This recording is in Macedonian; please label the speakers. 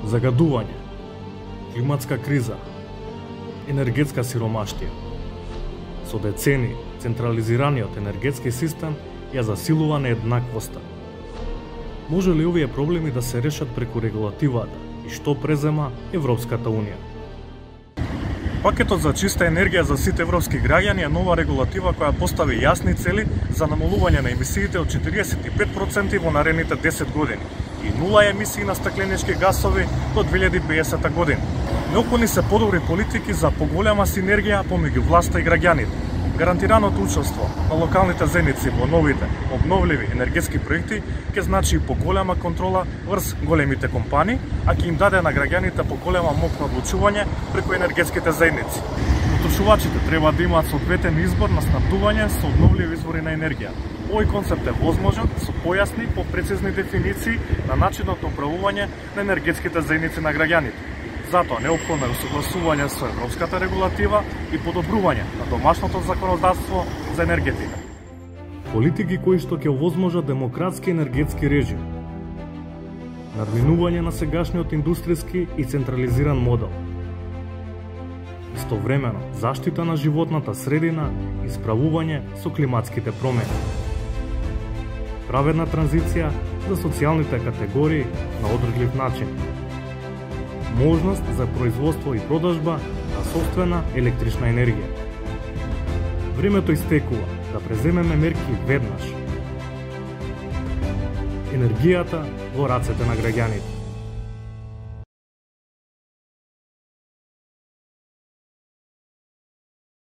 Speaker 1: Загадување, климатска криза, енергетска сиромаштија. Со децени, централизираниот енергетски систем ја засилува нееднаквоста. Може ли овие проблеми да се решат преку регулативата и што презема Европската Унија?
Speaker 2: Пакетот за чиста енергија за сите европски граѓани е нова регулатива која постави јасни цели за намалување на емисиите од 45% во наредните 10 години и нула емисии на стакленички гасови до 2050 година. Неопходни се подобри политики за поголема синергија помеѓу власта и граѓаните. Гарантираното учество на локалните заедници во новите обновливи енергетски проекти ќе значи поголема контрола врз големите компании, а ќе им даде на граѓаните поголема моќ на одлучување преку енергетските заедници. Потрошувачите треба да имаат соодветен избор на снабдување со обновливи извори на енергија. Овој концепт е возможен со појасни, попрецизни дефиниции на начинот на управување на енергетските заедници на граѓаните. Затоа неопходно е усогласување со европската регулатива и подобрување на домашното законодавство за енергетика.
Speaker 1: Политики кои што ќе овозможат демократски енергетски режим, надминување на сегашниот индустријски и централизиран модел, истовремено заштита на животната средина и справување со климатските промени, праведна транзиција за социјалните категории на одредлив начин, можност за производство и продажба на сопствена електрична енергија. Времето истекува да преземеме мерки веднаш. Енергијата во рацете на граѓаните.